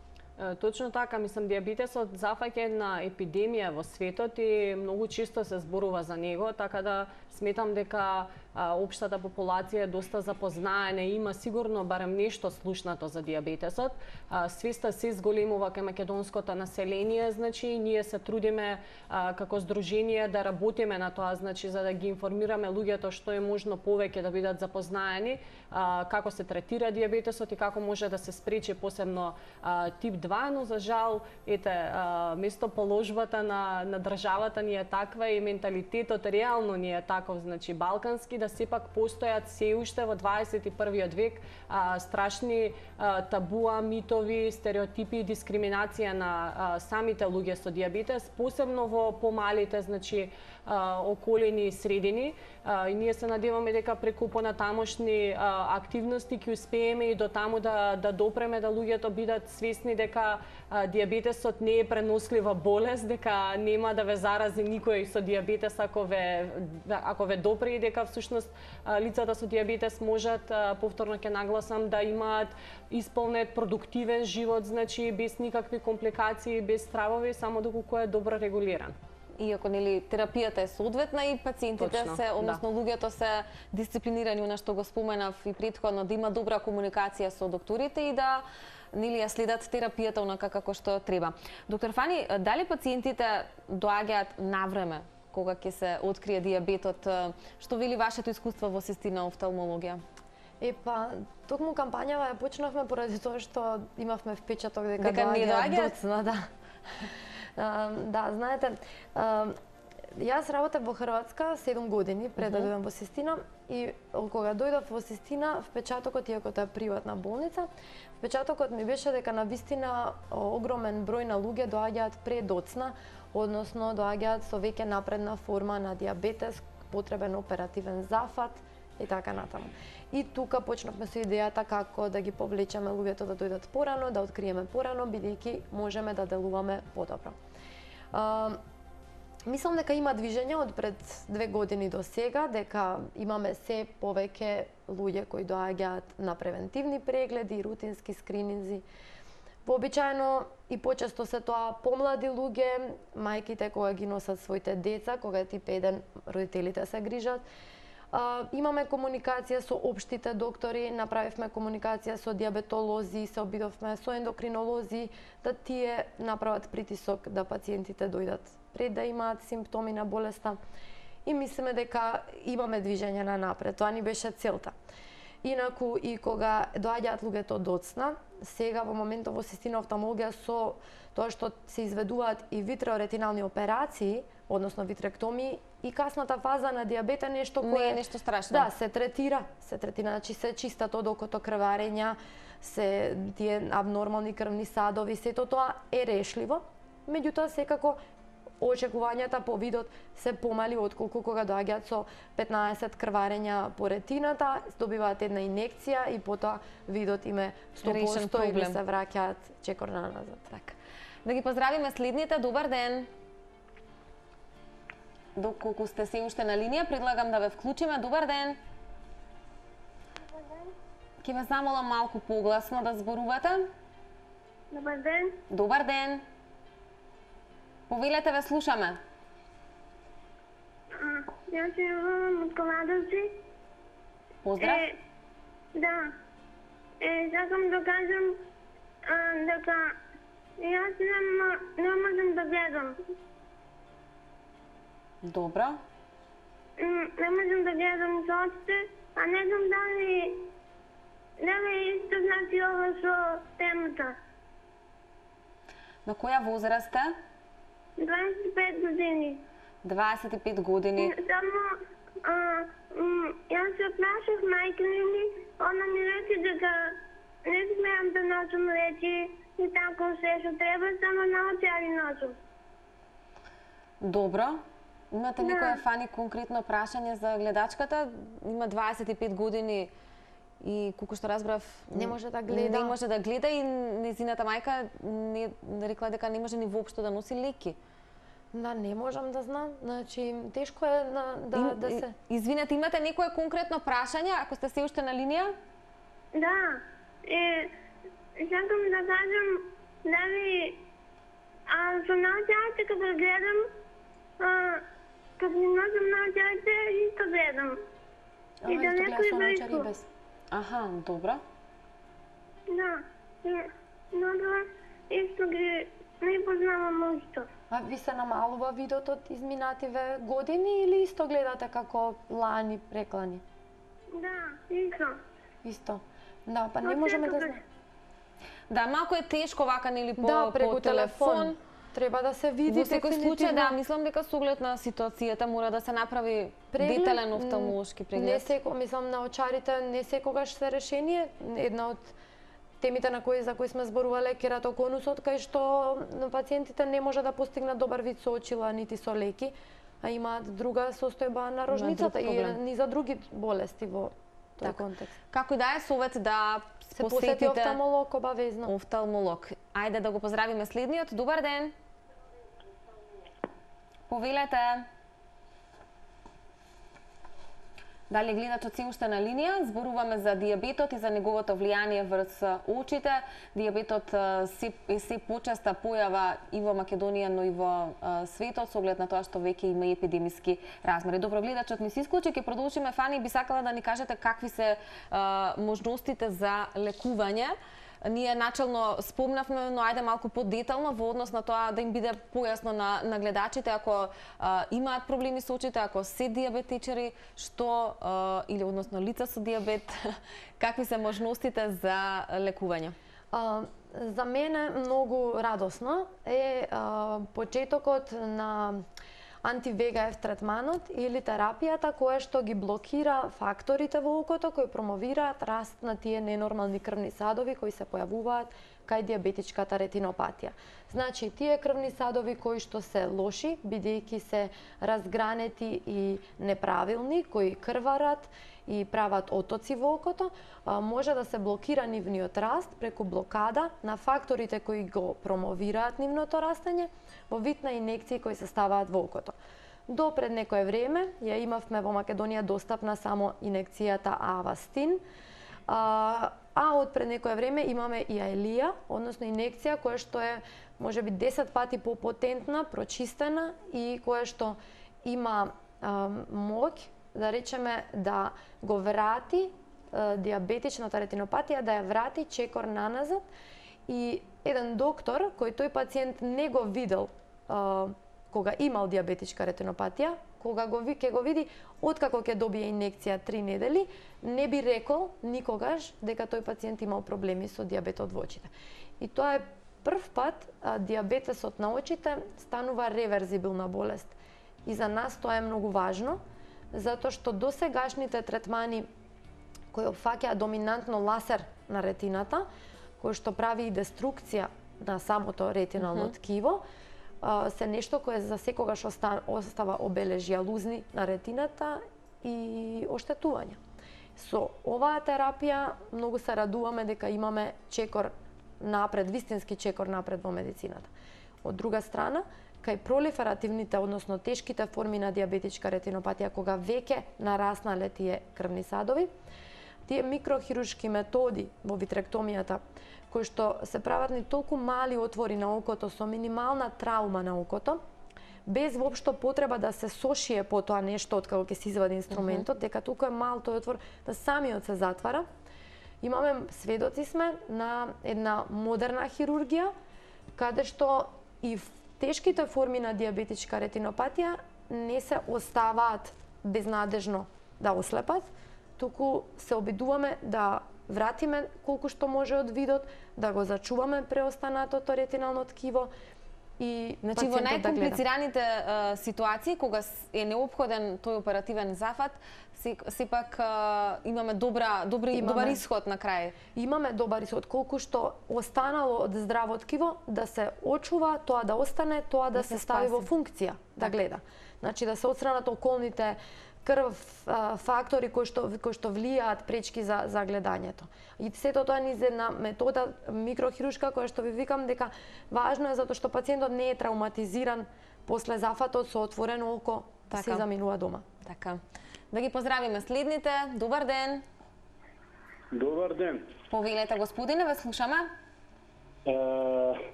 [SPEAKER 2] Точно така, мислам, дијабетесот зафаќа една епидемија во светот и многу често се зборува за него, така да сметам дека а, општата популација е доста запознаена и има сигурно барем нешто слушнато за дијабетесот. А, свеста се зголемува кај македонското население, значи ние се трудиме а, како здружение да работиме на тоа, значи за да ги информираме луѓето што е можно повеќе да бидат запознаени, а, како се третира дијабетесот и како може да се спречи посебно а, тип два, но за жал, ете, а, место положбата на, на државата ни е таква и менталитетот реално ни е таков, значи балкански, да сепак постојат се уште во дваесет и првиот век а, страшни а, табуа, митови, стереотипи и дискриминација на а, самите луѓе со дијабетес, посебно во помалите, значи, а, околини и средини. А, и ние се надеваме дека преку понатамошни а, активности ќе успееме и до таму да, да допреме да луѓето бидат свесни дека а, дијабетесот не е пренослива болест, дека нема да ве зарази никој со дијабетес ако ве ако ве допре и дека всушност а, лицата со дијабетес можат, а, повторно ќе нагласам, да имаат исполнет продуктивен живот, значи без никакви компликации, без стравови, само доколку е добро регулиран.
[SPEAKER 1] Иако нели терапијата е соодветна и пациентите
[SPEAKER 2] Точно,
[SPEAKER 1] се, односно
[SPEAKER 2] да.
[SPEAKER 1] луѓето се дисциплинирани, она што го споменав и претходно, да има добра комуникација со докторите и да нели ја следат терапијата онака како што треба. Доктор Фани, дали пациентите доаѓаат навреме кога ќе се открие дијабетот? Што вели вашето искуство во Сестина офталмологија?
[SPEAKER 3] Е, па, токму кампањава ја почнавме поради тоа што имавме впечаток дека,
[SPEAKER 1] дека не доаѓаат
[SPEAKER 3] доцна, да. А, да, знаете, а, јас работев во Хрватска седум години пред да дојдам во Сестина и кога дојдов во Сестина, впечатокот, иако тоа е приватна болница, впечатокот ми беше дека навистина огромен број на луѓе доаѓаат предоцна односно доаѓаат со веќе напредна форма на диабетес, потребен оперативен зафат и така натаму. И тука почнавме со идејата како да ги повлечеме луѓето да дојдат порано, да откриеме порано, бидејќи можеме да делуваме подобро. Мислам дека има движење од пред две години до сега, дека имаме се повеќе луѓе кои доаѓаат на превентивни прегледи, рутински скрининзи. Вообичаено и почесто се тоа помлади луѓе, мајките кога ги носат своите деца, кога е тип еден, родителите се грижат. А, имаме комуникација со општите доктори, направивме комуникација со диабетолози, се обидовме со ендокринолози, да тие направат притисок да пациентите дојдат пред да имаат симптоми на болеста. И мислиме дека имаме движење на напред, тоа ни беше целта. Инаку и кога доаѓаат луѓето доцна, сега во моментот во систина офталмологија со тоа што се изведуваат и витреоретинални операции, односно витректомии, и касната фаза на диабет е нешто кое
[SPEAKER 1] не е нешто страшно.
[SPEAKER 3] Да, се третира, се третира, значи се чистат од окото крварења, се тие абнормални крвни садови, сето тоа е решливо. Меѓутоа секако очекувањата по видот се помали отколку кога доаѓаат со петнаесет крварења по ретината, добиваат една инекција и потоа видот им е сто проценти или се враќаат чекор назад.
[SPEAKER 1] Така. Да ги поздравиме следните. Добар ден. Доколку сте се уште на линија, предлагам да ве вклучиме. Добар ден.
[SPEAKER 7] Добар ден.
[SPEAKER 1] Ке ве замолам малку погласно да зборувате.
[SPEAKER 7] Добар ден.
[SPEAKER 1] Добар ден. Повелете, ве слушаме.
[SPEAKER 7] Јас се јавам од Кладовци.
[SPEAKER 1] Поздрав.
[SPEAKER 7] Е, да. Е, сакам да кажам а, дека јас не, не можам да гледам.
[SPEAKER 1] Добро.
[SPEAKER 7] Не можам да гледам со очите, а не знам дали дали исто значи ова со темата.
[SPEAKER 1] На која возраст сте?
[SPEAKER 7] дваесет и пет години.
[SPEAKER 1] дваесет и пет години.
[SPEAKER 7] Само а, м, јас се прашав мајка ми, она ми рече дека не смеам да носам речи и тако се што треба, само на очари носам.
[SPEAKER 1] Добро. Имате
[SPEAKER 7] Да.
[SPEAKER 1] некоја Фани конкретно прашање за гледачката? Има дваесет и пет години и колку што разбрав
[SPEAKER 3] Не може да гледа.
[SPEAKER 1] Не може да гледа и незината мајка не рекла дека не може ни воопшто да носи леки.
[SPEAKER 3] Да, не можам да знам. Значи, тешко е на, да,
[SPEAKER 1] Им-
[SPEAKER 3] да се...
[SPEAKER 1] Извинете, имате некое конкретно прашање, ако сте се уште на линија?
[SPEAKER 7] Да, е, сакам да кажам дали а, со научарите кога гледам, а, кога не носам научарите, исто гледам.
[SPEAKER 3] А,
[SPEAKER 7] И да
[SPEAKER 3] исто
[SPEAKER 7] некој
[SPEAKER 3] гледа со научари
[SPEAKER 7] близко.
[SPEAKER 3] без.
[SPEAKER 1] Аха, добро.
[SPEAKER 7] Да, и, но да, исто ги не познавам ушто.
[SPEAKER 3] А ви се намалува видот од изминативе години или исто гледате како лани, преклани?
[SPEAKER 7] Да, исто.
[SPEAKER 3] Исто. Да, па не
[SPEAKER 7] Од
[SPEAKER 3] можеме да
[SPEAKER 7] секогаш.
[SPEAKER 3] знаеме.
[SPEAKER 1] Да, малку е тешко вака нели по,
[SPEAKER 3] Да, преку
[SPEAKER 1] по телефон.
[SPEAKER 3] телефон. Треба да се види
[SPEAKER 1] Во секој случај, да,
[SPEAKER 3] дефинитивно.
[SPEAKER 1] мислам дека со оглед на ситуацијата мора да се направи
[SPEAKER 3] Преглед,
[SPEAKER 1] детален
[SPEAKER 3] м,
[SPEAKER 1] офталмолошки
[SPEAKER 3] Не
[SPEAKER 1] преглед.
[SPEAKER 3] секо, мислам на очарите не секогаш се решение. Една од темите на кои за кои сме зборувале е кератоконусот, кај што пациентите не може да постигнат добар вид со очила нити со леки, а имаат друга состојба на рожницата и
[SPEAKER 1] проблем.
[SPEAKER 3] ни за други болести во тој
[SPEAKER 1] Така.
[SPEAKER 3] контекст.
[SPEAKER 1] Како и да е совет да
[SPEAKER 3] Се посети
[SPEAKER 1] посетите
[SPEAKER 3] офталмолог обавезно.
[SPEAKER 1] офталмолог. Ајде да го поздравиме следниот. Добар ден. Повелете. Дали гледачот се уште на линија? Зборуваме за диабетот и за неговото влијание врз очите. Диабетот а, се, е се почеста појава и во Македонија, но и во а, светот, со оглед на тоа што веќе има и епидемиски размери. Добро, гледачот ми се исклучи, ќе продолжиме. Фани, би сакала да ни кажете какви се а, можностите за лекување. Ние начално спомнавме, но ајде малку подетално во однос на тоа да им биде појасно на, на гледачите ако а, имаат проблеми со очите, ако се диабетичари, што а, или односно лица со диабет, какви се можностите за лекување?
[SPEAKER 3] А, за мене многу радосно е а, почетокот на анти-ве га еф третманот или терапијата која што ги блокира факторите во окото кои промовираат раст на тие ненормални крвни садови кои се појавуваат кај диабетичката ретинопатија. Значи, тие крвни садови кои што се лоши, бидејќи се разгранети и неправилни, кои крварат и прават отоци во окото, може да се блокира нивниот раст преку блокада на факторите кои го промовираат нивното растење во вид на инекции кои се ставаат во окото. До пред некое време ја имавме во Македонија достапна само инекцијата Авастин, а, а од пред некое време имаме и Аелија, односно инекција која што е можеби десет пати попотентна, прочистена и која што има а, моќ да речеме да го врати е, диабетичната ретинопатија, да ја врати чекор наназад. И еден доктор, кој тој пациент не го видел е, кога имал диабетичка ретинопатија, кога го, ќе го види откако ќе добие инекција три недели, не би рекол никогаш дека тој пациент имал проблеми со диабетот во очите. И тоа е прв пат а, диабетесот на очите станува реверзибилна болест. И за нас тоа е многу важно, затоа што досегашните третмани кои опфаќаат доминантно ласер на ретината, кој што прави и деструкција на самото ретинално mm-hmm. ткиво, се нешто кое за секогаш остава обележја лузни на ретината и оштетувања. Со оваа терапија многу се радуваме дека имаме чекор напред, вистински чекор напред во медицината. Од друга страна, кај пролиферативните, односно тешките форми на диабетичка ретинопатија, кога веќе нараснале тие крвни садови, тие микрохируршки методи во витректомијата, кои што се прават ни толку мали отвори на окото со минимална траума на окото, без воопшто потреба да се сошие по тоа нешто од како ќе се извади инструментот, дека толку е мал тој отвор да самиот се затвара. Имаме сведоци сме на една модерна хирургија, каде што и тешките форми на диабетичка ретинопатија не се оставаат безнадежно да ослепат, туку се обидуваме да вратиме колку што може од видот, да го зачуваме преостанатото ретинално ткиво и
[SPEAKER 1] значи во најкомплицираните да ситуации кога е неопходен тој оперативен зафат, сепак имаме добра добри имаме, добар исход на крај.
[SPEAKER 3] Имаме добар исход колку што останало од здраво ткиво да се очува, тоа да остане, тоа да, да се стави во функција, да гледа. Значи да се отстранат околните крв фактори кои што кои што влијаат пречки за за гледањето. И сето тоа низ една метода микрохируршка која што ви викам дека важно е затоа што пациентот не е травматизиран после зафатот со отворено око, така се заминува дома.
[SPEAKER 1] Така. Да ги поздравиме следните. Добар ден.
[SPEAKER 8] Добар ден.
[SPEAKER 1] Повелете, господине, ве слушаме.
[SPEAKER 8] Е,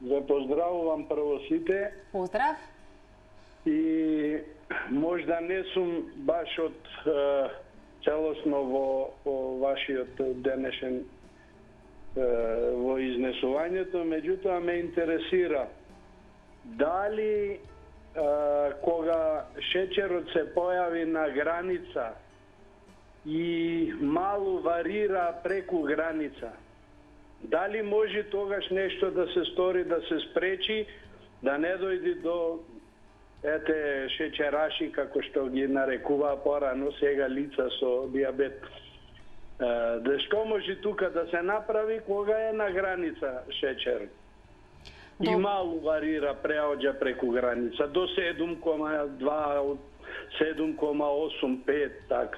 [SPEAKER 8] ве поздравувам прво сите.
[SPEAKER 1] Поздрав.
[SPEAKER 8] И можда не сум баш од е, целосно во, во вашиот денешен е, во изнесувањето, меѓутоа ме интересира дали е, кога шеќерот се појави на граница и малу варира преку граница, дали може тогаш нешто да се стори, да се спречи, да не дојде до ете шеќераши, како што ги нарекуваа порано сега лица со диабет. Да што може тука да се направи кога е на граница шеќер? И малу варира, преоѓа преку граница до седум кома два, седум кома осум, пет, така.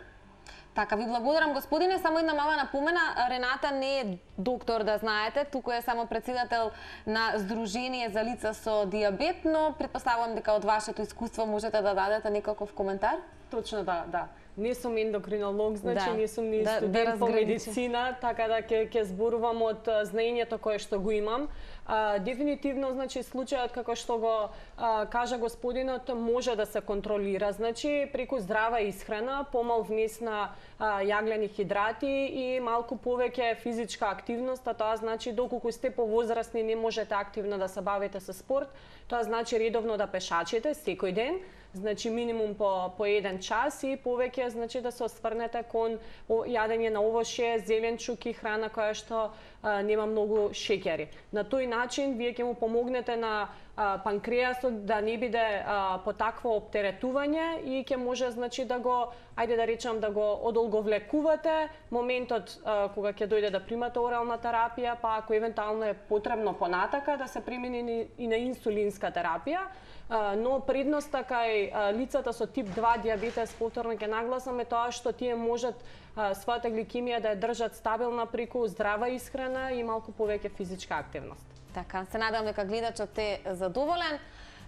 [SPEAKER 1] Така, ви благодарам, господине. Само една мала напомена, Рената не е доктор, да знаете, туку е само председател на Сдружение за лица со диабет, но предпоставувам дека од вашето искуство можете да дадете некаков коментар?
[SPEAKER 2] Точно да, да. Не сум ендокринолог, значи
[SPEAKER 1] да.
[SPEAKER 2] не сум ни
[SPEAKER 1] да,
[SPEAKER 2] студент
[SPEAKER 1] да
[SPEAKER 2] по медицина, така да ќе ќе зборувам од знаењето кое што го имам. А, дефинитивно, значи, случајот како што го а, кажа господинот може да се контролира, значи преку здрава исхрана, помал внес на а, јаглени хидрати и малку повеќе физичка активност, а тоа значи доколку сте повозрасни не можете активно да се бавите со спорт, тоа значи редовно да пешачите секој ден, значи минимум по по еден час и повеќе значи да се осврнете кон јадење на овошје, зеленчуки, храна која што а, нема многу шеќери. На тој начин вие ќе му помогнете на панкреасот да не биде а, по такво оптеретување и ќе може значи да го, ајде да речам да го одолговлекувате моментот а, кога ќе дојде да примате орална терапија, па ако евентуално е потребно понатака да се примени и на инсулинска терапија. Uh, но предноста кај uh, лицата со тип два диабетес, повторно ќе нагласаме тоа што тие можат uh, својата гликемија да ја држат стабилна преку здрава исхрана и малку повеќе физичка активност.
[SPEAKER 1] Така, се надам дека гледачот е задоволен.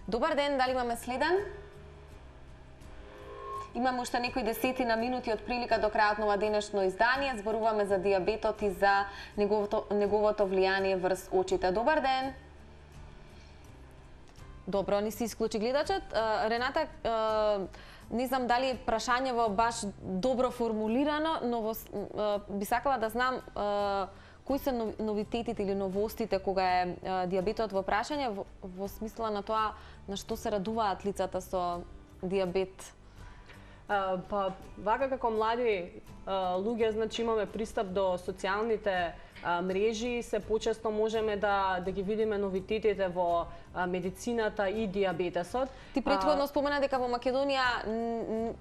[SPEAKER 1] Добар ден, дали имаме следен? Имаме уште некои десетина минути од прилика до крајот на ова денешно издание. Зборуваме за диабетот и за неговото, неговото влијание врз очите. Добар ден! Добро, ни се исклучи гледачот. Рената, не знам дали прашањево баш добро формулирано, но во, би сакала да знам кои се новитетите или новостите кога е диабетот во прашање, во, во смисла на тоа на што се радуваат лицата со диабет?
[SPEAKER 2] Uh, па, вака како млади uh, луѓе, значи имаме пристап до социјалните uh, мрежи, се почесто можеме да, да ги видиме новитетите во uh, медицината и диабетесот.
[SPEAKER 1] Ти претходно uh, спомена дека во Македонија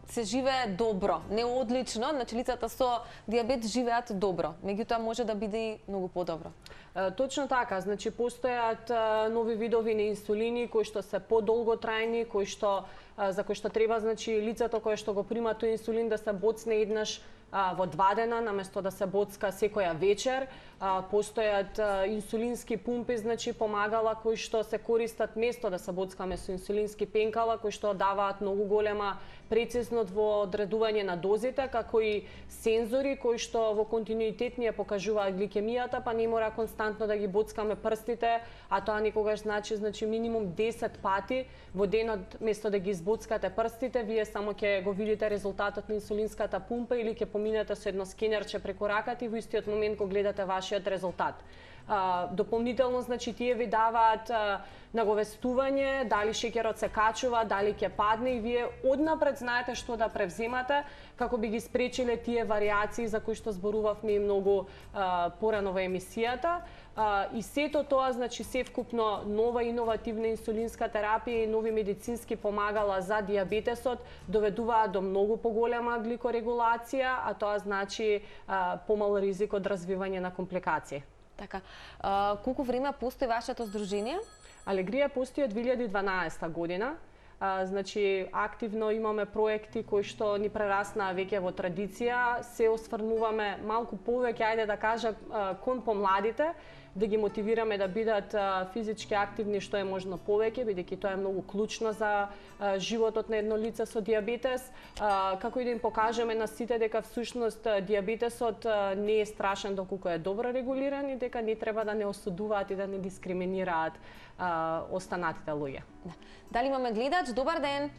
[SPEAKER 1] се живее добро, не одлично, значи лицата со диабет живеат добро, меѓутоа може да биде и многу подобро.
[SPEAKER 2] Uh, точно така, значи постојат uh, нови видови на инсулини кои што се подолготрајни, кои што за кој што треба, значи, лицето кое што го прима тој инсулин да се боцне еднаш а, во два дена, наместо да се боцка секоја вечер. А, постојат а, инсулински пумпи, значи, помагала кои што се користат место да се боцкаме со инсулински пенкала, кои што даваат многу голема прецизност во одредување на дозите, како и сензори кои што во континуитет ни ја покажуваат гликемијата, па не мора константно да ги боцкаме прстите, а тоа никогаш значи, значи минимум десет пати во денот, место да ги избоцкате прстите, вие само ќе го видите резултатот на инсулинската пумпа или ќе поминете со едно скенерче преку раката и во истиот момент кога гледате вашиот резултат. Uh, дополнително, значи, тие ви даваат uh, наговестување, дали шеќерот се качува, дали ќе падне и вие однапред знаете што да превземате, како би ги спречиле тие варијации за кои што зборувавме и многу uh, порано во емисијата. Uh, и сето тоа, значи, севкупно нова иновативна инсулинска терапија и нови медицински помагала за диабетесот доведуваат до многу поголема гликорегулација, а тоа значи uh, помал ризик од развивање на компликации.
[SPEAKER 1] Така, а, колку време постои вашето здружение?
[SPEAKER 2] Алегрија постои од две илјади и дванаесета година. А, значи, активно имаме проекти кои што ни прераснаа веќе во традиција. Се осврнуваме малку повеќе, ајде да кажам, кон помладите, да ги мотивираме да бидат а, физички активни што е можно повеќе, бидејќи тоа е многу клучно за а, животот на едно лице со диабетес, а, како и да им покажеме на сите дека всушност диабетесот а, не е страшен доколку е добро регулиран и дека не треба да не осудуваат и да не дискриминираат а, останатите луѓе.
[SPEAKER 1] Да. Дали имаме гледач? Добар ден!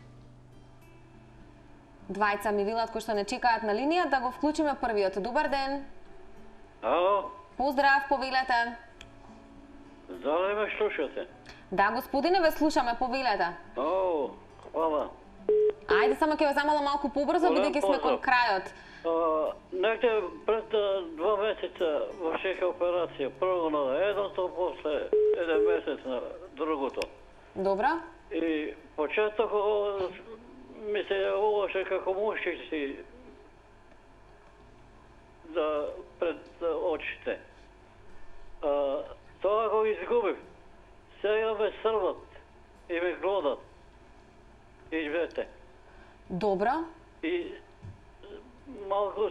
[SPEAKER 1] Двајца ми велат кои што не чекаат на линија, да го вклучиме првиот. Добар ден!
[SPEAKER 9] Ало!
[SPEAKER 1] Поздрав, повелете!
[SPEAKER 9] Дали ме слушате?
[SPEAKER 1] Да, господине, ве слушаме, повелете.
[SPEAKER 9] О, хвала.
[SPEAKER 1] Ајде, само ќе ве замолам малку побрзо, бидејќи сме кон крајот.
[SPEAKER 9] Некде пред два месеца вршеха операција. Прво на едното, после еден месец на другото.
[SPEAKER 1] Добро.
[SPEAKER 9] И почеток ми се јавуваше како мушици да пред очите. А, тоа го изгубив. Сега ме срват и ме глодат. И двете.
[SPEAKER 1] Добро.
[SPEAKER 9] И малку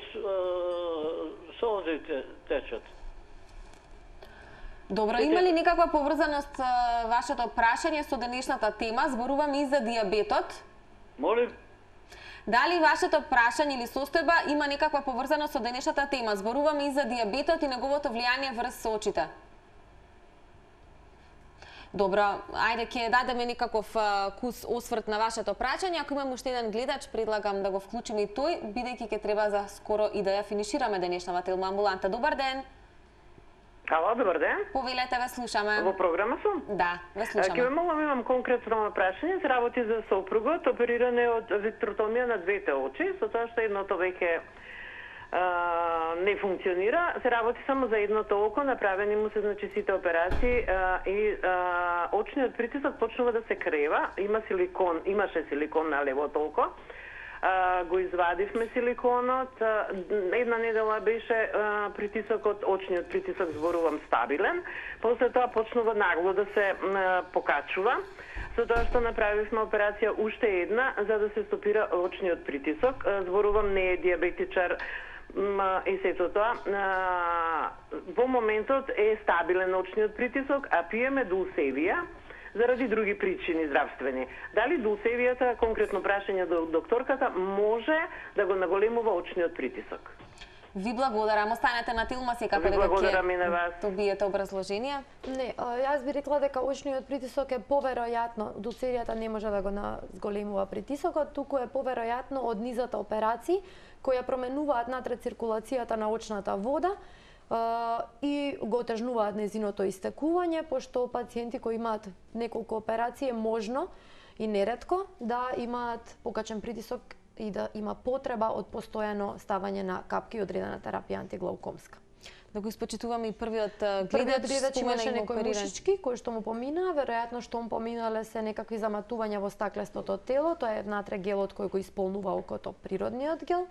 [SPEAKER 9] солзи течат.
[SPEAKER 1] Добро, има ли некаква поврзаност вашето прашање со денешната тема? Зборуваме и за диабетот.
[SPEAKER 9] Молим?
[SPEAKER 1] Дали вашето прашање или состојба има некаква поврзаност со денешната тема? Зборуваме и за диабетот и неговото влијание врз очите. Добро, ајде ќе дадеме некаков кус осврт на вашето прашање. Ако имаме уште еден гледач, предлагам да го вклучиме и тој, бидејќи ќе треба за скоро и да ја финишираме денешната Телма амбуланта. Добар ден!
[SPEAKER 10] Ало, добар ден.
[SPEAKER 1] Повелете, ве слушаме.
[SPEAKER 10] Во програма сум?
[SPEAKER 1] Да, ве слушаме.
[SPEAKER 10] Ке ве молам, имам конкретно прашање. Се работи за сопругот, опериране од витротомија на двете очи, со тоа што едното веќе не функционира, се работи само за едното око, направени му се значи сите операции а, и а, очниот притисок почнува да се крева, има силикон, имаше силикон на левото око. А, го извадивме силиконот, а, една недела беше а, притисокот, очниот притисок зборувам стабилен, после тоа почнува нагло да се а, покачува. За тоа што направивме операција уште една за да се стопира очниот притисок. Зборувам не е диабетичар и сето тоа. Во моментот е стабилен очниот притисок, а пиеме дулсевија заради други причини здравствени. Дали дулсевијата, конкретно прашање до докторката, може да го наголемува очниот притисок?
[SPEAKER 1] Ви благодарам. Останете на Тилма секако дека ќе добиете образложение.
[SPEAKER 3] Не, јас би рекла дека очниот притисок е поверојатно, дулсевијата не може да го зголемува притисокот, туку е поверојатно од низата операции кои ја променуваат натре циркулацијата на очната вода и го отежнуваат незиното истекување, пошто пациенти кои имаат неколку операции е можно и неретко да имаат покачен притисок и да има потреба од постојано ставање на капки и одредена терапија антиглаукомска.
[SPEAKER 1] Да го испочитуваме и првиот гледач.
[SPEAKER 3] Првиот гледач имаше некој мушички кој што му помина, веројатно што му поминале се некакви заматувања во стаклестото тело, тоа е внатре гелот кој го исполнува окото, природниот гел,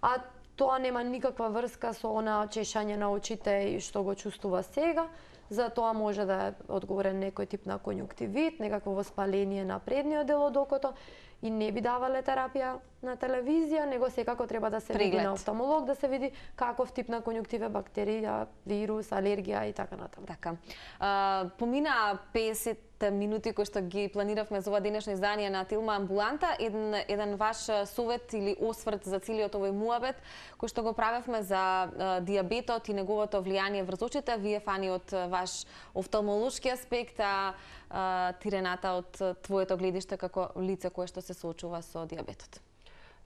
[SPEAKER 3] а тоа нема никаква врска со она чешање на очите и што го чувствува сега. За тоа може да е одговорен некој тип на конјуктивит, некакво воспаление на предниот дел од окото, и не би давале терапија на телевизија, него секако треба да се Приглед. види на офталмолог, да се види каков тип на конјуктива, бактерија, вирус, алергија и така натаму.
[SPEAKER 1] Така. А, помина песет минути кои што ги планиравме за ова денешно издание на Тилма амбуланта, еден, еден ваш совет или осврт за целиот овој муабет, кој што го правевме за а, диабетот и неговото влијание врз очите, вие Фани од ваш офталмолошки аспект, а, а ти Рената од твоето гледиште како лице кое што се соочува со диабетот.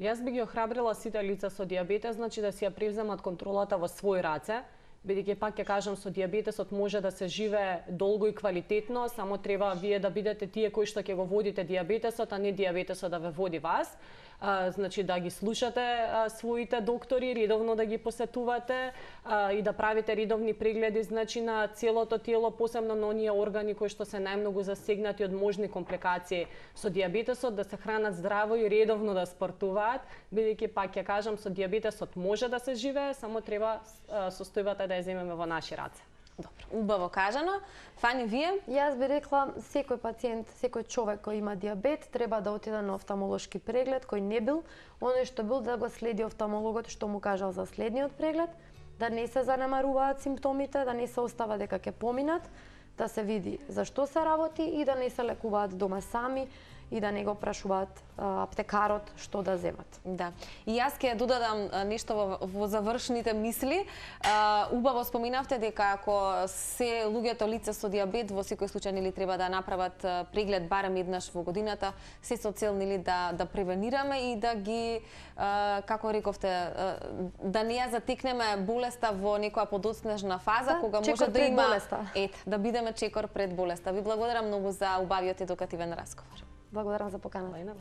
[SPEAKER 2] Јас би ги охрабрила сите лица со диабетес, значи да си ја превземат контролата во своји раце, бидејќи пак ќе кажам со диабетесот може да се живее долго и квалитетно, само треба вие да бидете тие кои што ќе го водите диабетесот, а не диабетесот да ве води вас. А, значи да ги слушате а, своите доктори, редовно да ги посетувате а, и да правите редовни прегледи, значи на целото тело, посебно на оние органи кои што се најмногу засегнати од можни компликации со диабетесот, да се хранат здраво и редовно да спортуваат, бидејќи пак ќе кажам со диабетесот може да се живее, само треба а, состојбата да ја земеме во наши раце.
[SPEAKER 1] Добро, убаво кажано. Фани, вие?
[SPEAKER 3] Јас би рекла, секој пациент, секој човек кој има диабет, треба да отиде на офталмолошки преглед, кој не бил, оној што бил да го следи офталмологот што му кажал за следниот преглед, да не се занемаруваат симптомите, да не се остава дека ќе поминат, да се види за што се работи и да не се лекуваат дома сами и да не го прашуваат а, аптекарот што да земат.
[SPEAKER 1] Да. И јас ќе додадам нешто во, во завршните мисли. А, убаво споминавте дека ако се луѓето лица со диабет во секој случај нели треба да направат преглед барем еднаш во годината, се со цел нели да да превенираме и да ги а, како рековте а, да не ја затекнеме болеста во некоја подоцнежна фаза, да, кога може да има ет, да бидеме чекор пред болеста. Ви благодарам многу за убавиот едукативен разговор.
[SPEAKER 3] Благодарам за поканата.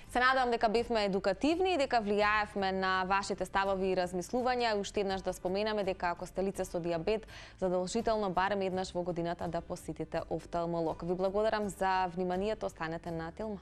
[SPEAKER 1] Се надевам дека бевме едукативни и дека влијаевме на вашите ставови и размислувања. Уште еднаш да споменаме дека ако сте лице со диабет, задолжително барем еднаш во годината да посетите офталмолог. Ви благодарам за вниманието, останете на Тилма.